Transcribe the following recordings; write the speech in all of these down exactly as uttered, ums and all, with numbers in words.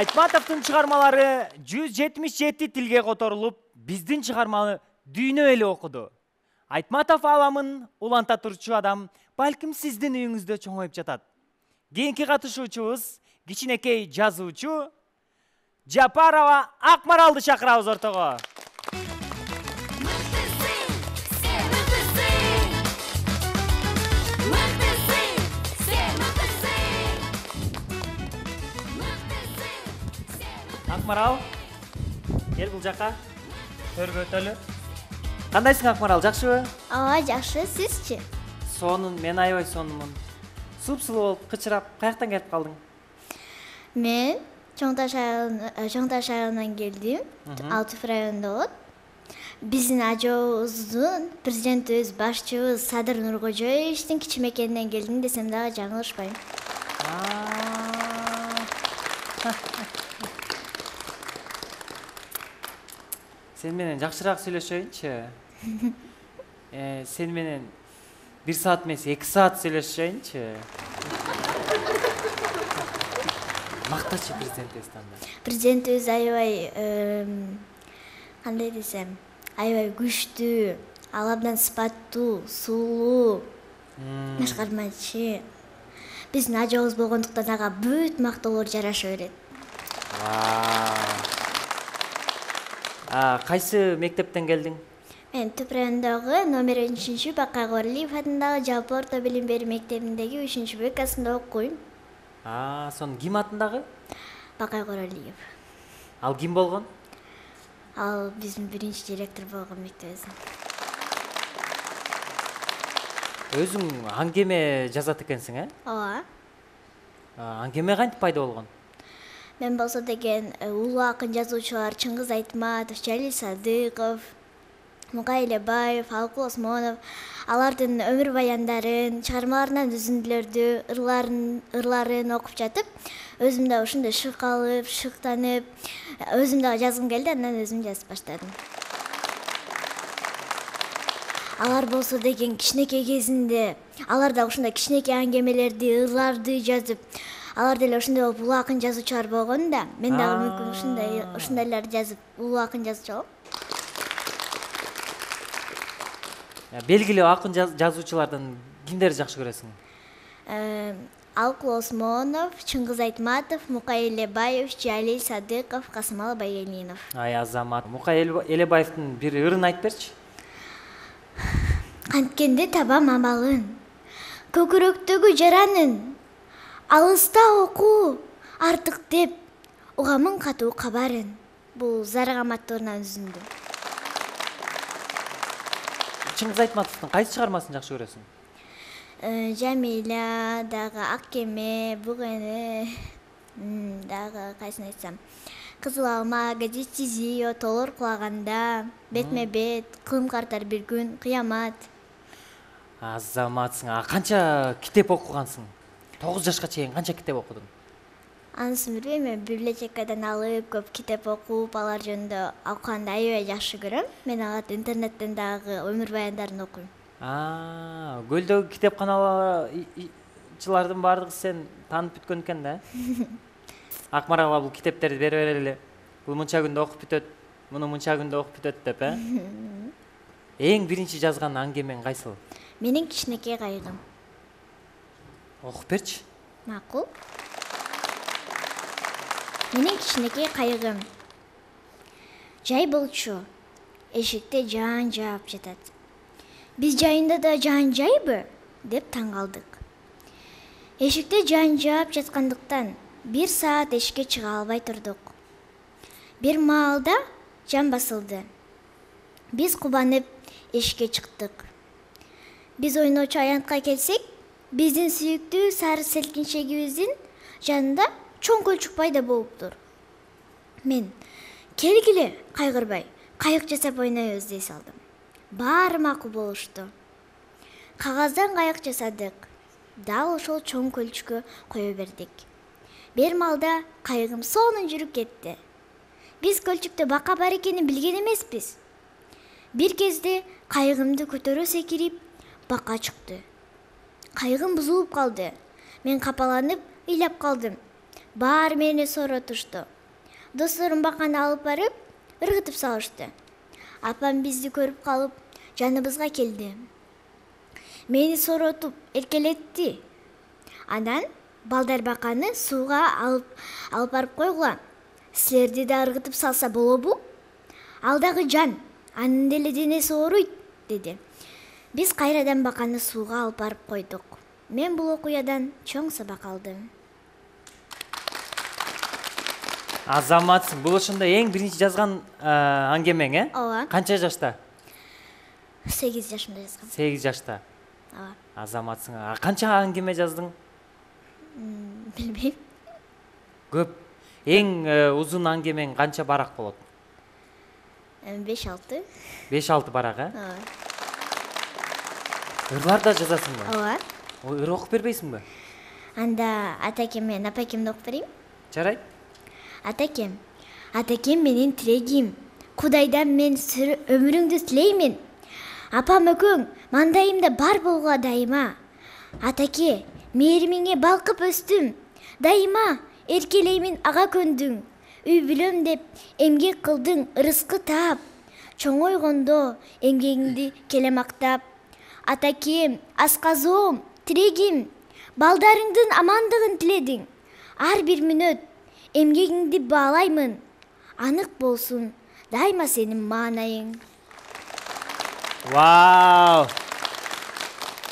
Айтматовдун чыгармалары жүз жетимиш жети тилге которулуп, биздин чыгарманы дүйнө эли окуду. Айтматов аламын уланта турчу адам балким сиздин үйүңүздө чоңоюп жатат. Кийинки катышуучубуз кичинекей жазуучу Жапарова Акмаралды чакырабыз ортого. Акмарал, кел бул жака. Төргө өтөлү. Кандайсың Акмарал, жакшыбы? Ооба, жакшы, сизчи? Сонун, мен аябай сонунмун. Суп-сулуу болуп, кычырап, каяктан келип калдың? Мен Чоң Таш айылынан келдим. Алтыф районунда болот. Биздин ажообуздун президентибиз, башчыбыз Садыр Нуркожоевичтин кичи мекенинен келдим десем дагы жаңылышпайм. Сен менен жакшыраак сүйлөшөйүнчү. Э, сен менен бир саат эмес, эки саат сүйлөшөйүнчү. Мактачы президентибизди анда. Президентибиз аябай, кандай десем, аябай күчтүү, ал абдан сыпаттуу, сулуу, башкармачы. Биздин ажообуз болгондуктан ага бүт мактоолор жараша берет. Кайсы мектептен келдиң? Мен Түп районундагы номер үчүнчү Бакай Коралиев атындагы жалпы орто билим берүү мектебиндеги үчүнчү Б классында окуйм. А, сонун ким атындагы? Бакай Коралиев. Ал ким болгон? Ал биздин биринчи директор болгон мектебибиздин. Өзүң аңгеме жазат экенсиң, э? Ооба. Аңгеме кантип пайда болгон? Мен болсо деген улуу акын жазуучулар Чыңгыз Айтматов, Жалил Садыков, Мукай Элебаев, Алкул Осмонов алардын өмүр баяндарын, чыгармаларынан үзүндүлөрдү, ырларын окуп жатып, өзүм да ушундай шык алып, шыктанып, өзүм дагы жазгым келди, андан өзүм жазып баштадым. Алар болсо деген кичинекей кезинде, алар да ушундай кичинекей аңгемелерди, ырларды жазып, алар деле ошондой болуп улуу акын жазуучулар болгон да, мен дагы мүмкүн ушундай ушундайларды жазып улуу акын жазчу болом. Белгилүү акын жазуучулардан кимдерди жакшы көрөсүң? Алкул Осмонов, Чыңгыз Айтматов, Мукай Элебаев, Жалил Садыков, Касымалы Байгелдинов. Ай азамат, Мукай Элебаевдин бир ырын айтып берчи. Канткенде табам амалын, көкүрөктөгү жаранын, алыста окуу артык деп, угамын катуу кабарын. Бул Зарык Аматовдун үзүндү. Чыңгыз Айтматовдун кайсы чыгармасын жакшы көрөсүң? Жамиля, дагы Ак кеме, Бук эне, дагы кайсын айтсам, Кызыл алма, Газет Тизио, Тоолор кулаганда, Бетме бет, Кылым картар бир күн, Кыямат. Азаматсың, а канча китеп окугансың? тогуз жашка чейин канча китеп окудуң? Анысын билбейм, мен библиотекадан алып, көп китеп окуп, алар жөнүндө окуганды аябай жакшы көрөм. Мен аларды интернеттен дагы өмүр баяндарын окуйм. А, көлдөгү китепканалчылардын баардыгы сен таанып бүткөн экен да? Акмаралга бул китептерди бере берели. Бул мынча күндө окуп бүтөт, муну мынча күндө окуп бүтөт деп, э? Эң биринчи жазган аңгемең кайсыл? Менин кичинекей кайгым. Окуп берчи. Макул. Менин кичинекей кайгым. Жай болчу. Эшикте жаан жаап жатат. Биз жайында да жаан жайбы? Деп таң калдык. Эшикте жаан жаап жаткандыктан бир саат эшикке чыга албай турдук. Бир маалда жан басылды. Биз кубанып эшикке чыктык. Биз ойночу аянтка келсек, биздин сүйүктүү сары селкинчегибиздин жанында чоң көлчүк пайда болуптур. Мен келгиле, кайгырбай, кайык жасап ойнойбуз дей салдым. Баары макул болушту. Кагаздан кайык жасадык. Дал ошол чоң көлчүккө кое бердик. Бир маалда кайыгым сонун жүрүп кетти. Биз көлчүктө бака бар экенин билген эмеспиз. Бир кезде кайыгымды көтөрө секирип, бака чыкты. Кайыгым бузулуп калды. Мен капаланып ыйлап калдым. баары мени сооротушту. Досторум баканы алып барып, ыргытып салышты. Апам бизди көрүп калып, жаныбызга келди. Мени сооротуп, эркелетти. Анан балдар баканы сууга алып алып барып койгула. Силерди да ыргытып салса болобу? Ал дагы жан, анын деле денеси ооруйт, деди. Биз кайрадан баканы сууга алып барып койдук. Мен бул окуядан чоң сабак алдым. Азаматсың. Бул ошондо эң биринчи жазган аңгемең, э? Ооба. Канча жашта? сегиз жашымда жазгам. сегиз жашта. Ооба. Азаматсың. А канча аңгеме жаздың? Билбейм. Көп. Эң узун аңгемең канча барак болот? беш алты. беш алты барак, э? Ооба. Ырлар да жазасыңбы? Ооба. Ыр окуп бербейсиңби? Анда атакем менен апакемди окуп берейин. Жарайт. Атакем, атакем менин тирегим. Кудайдан мен өмүрүңдү тилеймин. Апам экөөң мандайымда бар болгула дайыма. Атаке, мээримиңе балкып өстүм. Дайыма эркелеймин ага көндүң. Үй бүлөм деп эмгек кылдың, ырыскы таап. Чоңойгондо эмгегиңди келе мактап. Атакем, асказоом, тирегим. Балдарыңдын амандыгын тиледиң. Ар бир мүнөт эмгегиңди баалаймын. Анык болсун дайыма сенин маанайың. Вау!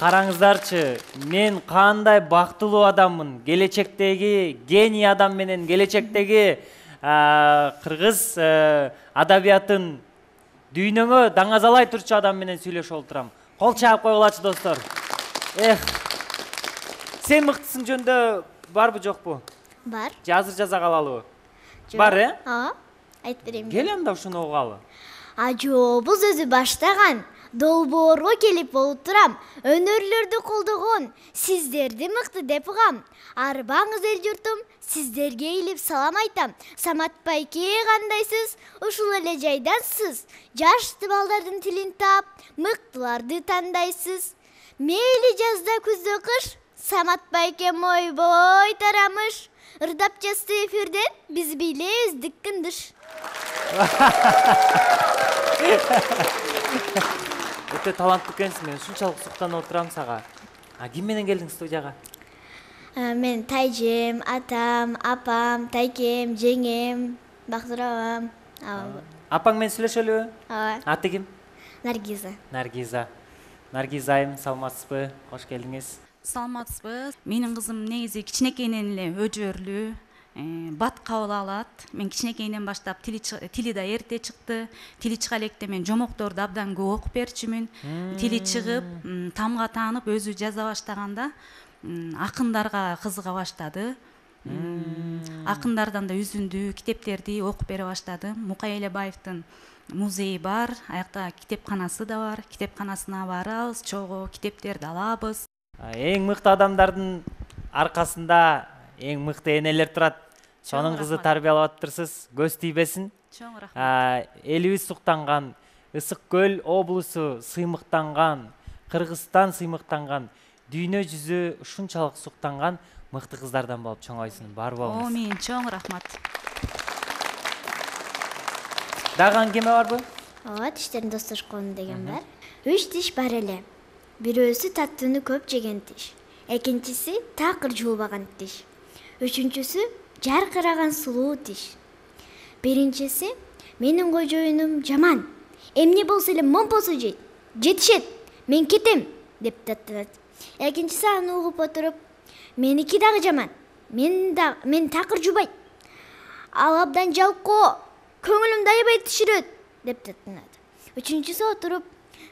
Караңыздарчы, мен кандай бактылуу адаммын. Келечектеги гений адам менен келечектеги кыргыз адабиятын дүйнөгө даңазалай турчу адам менен сүйлөшүп отурам. Кол чаап койгулачы достор. Эх. Сен мыктысың жөнүндө барбы жокпу? Бар. Же азыр жаза калалыбы? Бар, э? Ооба. Айтып берейин. Кел анда ушуну угалы. Ажоо, бул сөзү баштаган. Долбоорго келип болуп турам. Өнөрлөрдү колдогон сиздерди мыкты деп угам. Арбаңыз эл журтум, сиздерге эйлип салам айтам. Самат байке, кандайсыз? Ушул эле жайдансыз. Жашты балдардын тилин таап, мыктыларды тандайсыз. Мейли жазда күздө кыш, Самат байкем ойбой тарамыш. Ырдап жазды эфирден, биз билебиз дыккындыш. Өтө таланттуу экенсиң, мен ушунчалык суктанып отурам сага. А ким менен келдиң студияга? Мен тайжем, атам, апам, тайкем, жеңем, Бактыр абам. Апаң менен сүйлөшөлүбү? Ооба. Аты ким? Наргиза. Наргиза. Наргиза айым, саламатсызбы? Кош келдиңиз. Саламатсызбы? Менин кызым негизи кичинекейинен эле өжөрлүү, бат кабыл алат. Мен кичинекейинен баштап тили тили да эрте чыкты. Тили чыга электе мен жомокторду абдан көп окуп берчүмүн. Тили чыгып, тамга таанып өзү жаза баштаганда акындарга кызыга баштады. Акындардан да үзүндүү китептерди окуп бере баштадым. Мукай Элебаевдин музейи бар, аякта китепканасы да бар. Китепканасына барабыз, чогуу китептерди алабыз. Эң мыкты адамдардын аркасында эң мыкты энелер турат. Сонун кызы тарбиялап атыптырсыз. Көз тийбесин. Чоң рахмат. Элибиз суктанган, Ысык Көл облусу сыймыктанган, Кыргызстан сыймыктанган, дүйнө жүзү ушунчалык суктанган мыкты кыздардан болуп чоңойсун. Бар болуңуз. Амин, чоң рахмат. Дагы аңгеме барбы? Ооба, тиштерин достошкон деген бар. Үч тиш бар эле. Бирөөсү таттууну көп жеген тиш. Экинчиси такыр жуубаган тиш. Үчүнчүсү жаркыраган сулуу тиш. Биринчиси менин кожоюнум жаман. Эмне болсо эле момпосу жейт. Жетишет. Мен кетем деп таттанат. Экинчиси аны угуп отуруп, меники дагы жаман. Мен да мен такыр жубайт. Ал абдан жалкоо. Көңүлүмдү аябай түшүрөт деп таттанат. Үчүнчүсү отуруп,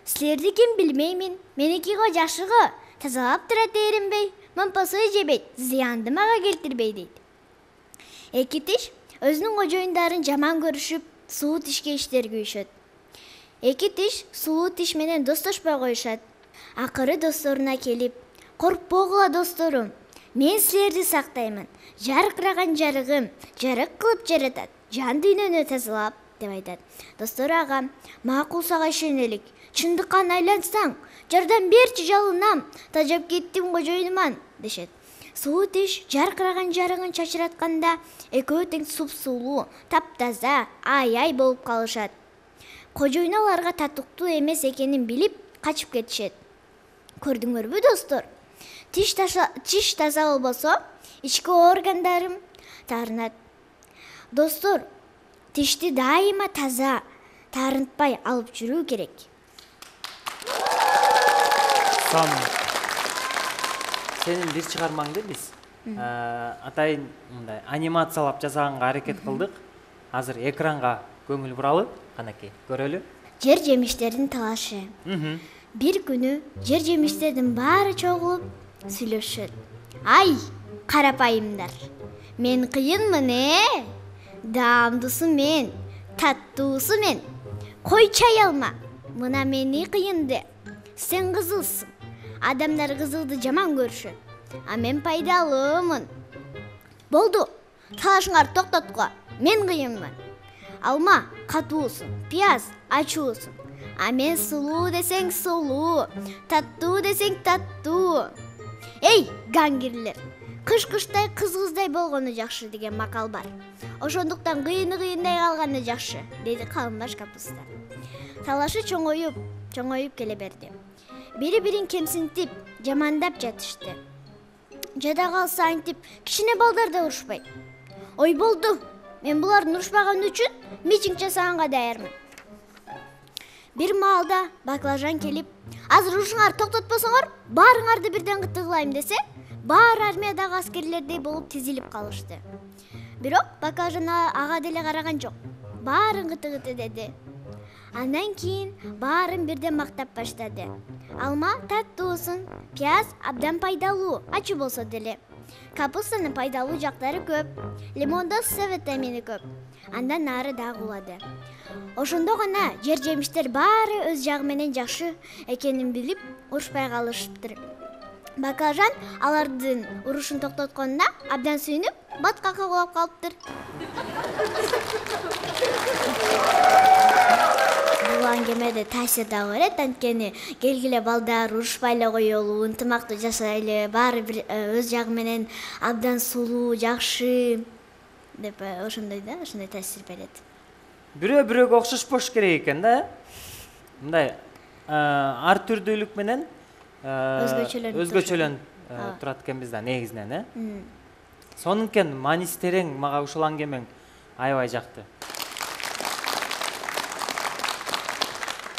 силерди ким билмеймин. Меники го жакшыго. Тазалап турат эринбей, момпосу жебейт, зыянды мага келтирбей дейт. Эки тиш өзүнүн кожоюндарын жаман көрүшүп, сулуу тишке иштер күйүшөт. Эки тиш сулуу тиш менен достошпой коюшат. Акыры досторуна келип, коркпогула досторум, мен силерди сактаймын. Жаркыраган жарыгым, жарык кылып жаратат, жан дүйнөнү тазалап деп айтат. Достору ага, макул сага ишенелик. Чындыкка айлансаң, жардам берчи жалынам, тажап кеттим кожоюнуман дешет. Суу тиш жаркыраган жарыгын чачыратканда экөө тең суп-сулуу, таптаза, ай-ай болуп калышат. Кожоюн аларга татыктуу эмес экенин билип качып кетишет. Көрдүңөрбү достор? Тиш тиш таза болбосо, ички органдарым таарынат. Достор, тишти дайыма таза, таарынтпай алып жүрүү керек. Сон, сенин бир чыгармаңды биз атайын мындай анимациялап жасаганга аракет кылдык. Азыр экранга көңүл буралы, канакей, көрөлү. Жер жемиштердин талашы. Бир күнү жер жемиштердин баары чогулуп сүйлөшөт. Ай, карапайымдар. Мен кыйынмын, э? Даамдуусу мен, таттуусу мен. Кой чай алма. Мына мени кыйынды. Сен кызылсың. Адамдар кызылды жаман көрүшөт. А мен пайдалуумун. Болду. Талашыңарды токтоткула. Мен кыйынмын. Алма катуусуң, пияз ачуусуң. А мен сулуу десең сулуу, таттуу десең таттуу. Эй, гангирлер, кыш-кыштай кыз-кыздай болгону жакшы деген макал бар. Ошондуктан кыйыны кыйындай калганы жакшы, деди калынбаш капуста. Талашы чоңоюп, чоңоюп келе берди. Бири-бирин кемсинтип, жамандап жатышты. Жада калса антип, кичине балдар да урушпайт. Ой болду, мен булардын урушпаганы үчүн митинг жасаганга даярмын. Бир маалда баклажан келип, азыр урушуңарды токтотпосоңор, баарыңарды бирден кытыгылайм десе, баары армиядагы аскерлердей болуп тизилип калышты. Бирок баклажан ага деле караган жок. Баарын кытыгыты деди. Андан кийин баарын бирден мактап баштады. Алма таттуусун, пияз абдан пайдалуу, ачуу болсо деле. Капустанын пайдалуу жактары көп, лимондо С витамини көп. Андан нары дагы улады. Ошондо гана жер жемиштер баары өз жагы менен жакшы экенин билип, урушпай калышыптыр. Баклажан алардын урушун токтотконуна абдан сүйүнүп, баткакка кулап калыптыр. Бул аңгемеде таасир дагы берет, анткени келгиле балдар урушпай эле коелу, ынтымактуу жашайлы, баары бир өз жагы менен абдан сулуу, жакшы деп ошондой да, ошондой таасир берет. Бирөө бирөөгө окшошпош керек экен да. Мындай ар түрдүүлүк менен өзгөчөлөнүп турат экенбиз да негизинен, э? Сонункен мааниси терең, мага ушул аңгемең аябай жакты.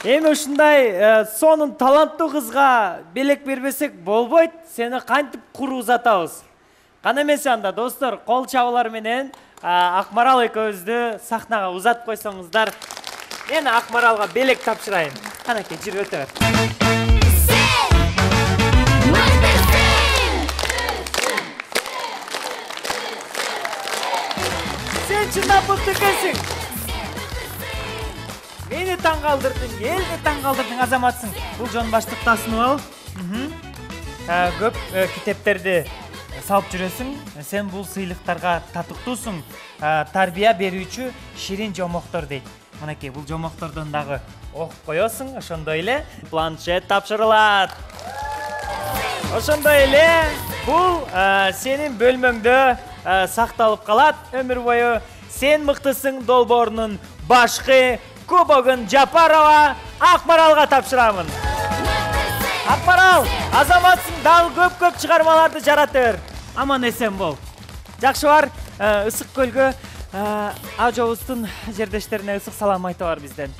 Эми ушундай сонун таланттуу кызга белек бербесек болбойт, сени кантип куру узатабыз. Кана эмесе анда достор, кол чабуулар менен Акмарал экөөбүздү сахнага узатып койсоңуздар, мен Акмаралга белек тапшырайын. Канакей, жүрүп өтө бер. Сен чындап мыкты экенсиң. Мени таң калтырдың, элди таң калтырдың, азаматсың. Бул жон баштыкты асынып ал. Көп китептерди салып жүрөсүң. Сен бул сыйлыктарга татыктуусуң. Тарбия берүүчү ширин жомоктор дейт. Мынакей, бул жомоктордон дагы окуп коесуң, ошондой эле планшет тапшырылат. Ошондой эле бул сенин бөлмөңдө сакталып калат өмүр бою. Сен мыктысың долбоорунун башкы кубогун Жапарова Акмаралга тапшырамын. Акмарал, азаматсың, дагы көп-көп чыгармаларды жарата бер. Аман эсен бол. Жакшы бар, ысык көлгө ажобуздун жердештерине ысык салам айта бар бизден.